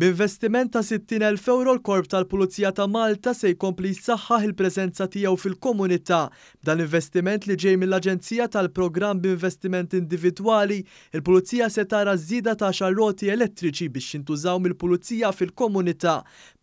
B'investiment ta' 60,000 ewro l-Korp tal-Pulizija ta' Malta se jkompli jsaħħaħ il-preżenza tiegħu fil-komunità. B'dan l-investiment li ġej mill-Aġenzija tal-Programm b'Investiment Individwali, il-Pulizija se tara żieda ta' għaxar roti elettriċi biex jintużaw mill-Pulizija fil-komunità.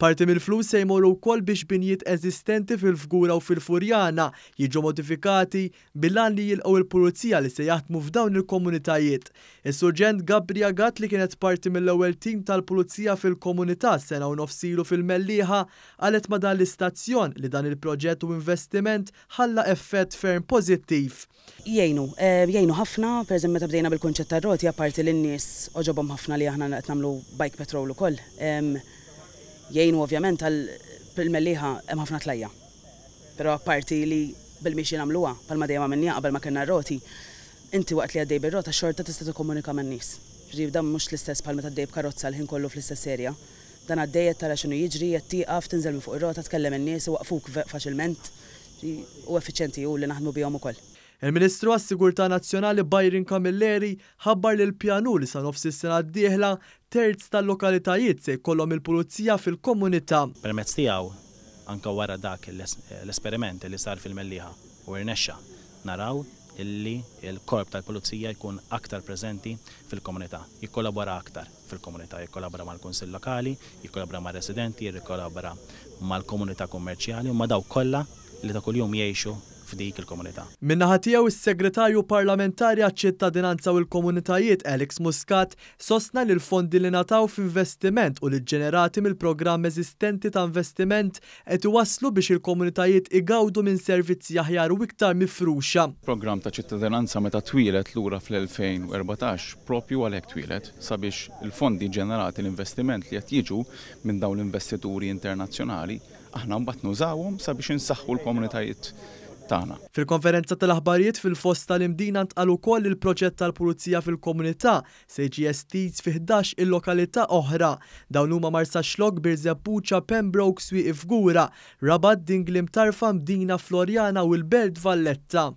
Parti mill-flus se jmorru wkoll biex binjiet eżistenti fil-Fgura u fil-Furjana jiġu modifikati bil-għan li jilqgħu il-pulizija li se jaħdmu f'dawn il-komunitajiet. Is-Surġent Gabria Gatt li kienet parti mill-ewwel tim tal-pulizija fil-komunità sena u nofs ilu fil-Mellieħa qalet ma' dan l-istazzjon li dan il-proġett u investiment ħalla effett ferm pożittiv. Jgħinu, jgħinu ħafna, pereżempju meta bdejna bil-kunċett tar-roti apparti li n-nies għoġobhom ħafna li aħna qed nagħmlu bike patrol ukoll, jgħinu ovvjament għal fil-Mellieħa hemm ħafna tlajja'. Però apparti li bil-mixi nagħmluha, bħalma dejjem għamilniha qabel ma kellna r-roti, inti waqt li għaddej bir-rota xorta tista' tikkomunika man-nies. Jiġifieri dan mhux l-istess bħal meta għaddej b'karozza l-ħin kollu fl-istess area. Dan għaddej qed tara x'inhu jiġri, qed tieqaf, tinżel minn fuq ir-rota, tkellem in-nies, iwaqqfuk faċilment. U effiċjenti hu li naħdmu bihom ukoll. Il-Ministru għas-Sigurtà Nazzjonali Byron Camilleri ħabbar li l-pjan hu li sa nofs is-sena d-dieħla, terz tal-lokalitajiet se jkollhom il-pulizija fil-komunità. Permezz tiegħu, anke wara dak l-esperiment li sar fil-Mellieħa u irnexxa, naraw illi l-Korp tal-Pulizija jkun aktar preżenti fil-komunità, jikkollabora aktar fil-komunità, jikkollabora mal-Kunsill Lokali, jikkollabora mar-residenti, jikkollabora mal-komunità kummerċjali u ma' dawk kollha li ta' kuljum jgħixu f'dik il-komunità. Min-naħa tiegħu s-Segretarju Parlamentari għaċ-Ċittadinanza u l-Komunitajiet Alex Muscat sostna li l-fondi li ngħataw f'investiment u li ġġenerati mill-programm eżistenti ta' investiment qed iwasslu biex il-komunitajiet igawdu minn servizzi aħjar u iktar mifruxa. Programm ta' ċittadinanza meta twieled lura fl-2014 proprju għalhekk twieled, sabiex il-fondi ġġenerati, l-investiment li qed jiġu minn dawn l-investituri internazzjonali, Aħna mbagħad nużawhom sabiex insaħħu l-komunitajiet tagħna. Fil-konferenza tal-aħbarijiet fil-Foss tal-Imdina ntqal ukoll li l-proġett tal-Pulizija fil-Komunità se jiġi estiż fi 11 il-lokalità oħra. Dawn huma Marsaxlokk, Birżebbuġa, Pembroke, Swieqi Fgura, Rabat, Dingli Mtarfa, Mdina, Floriana u l-Belt Valletta.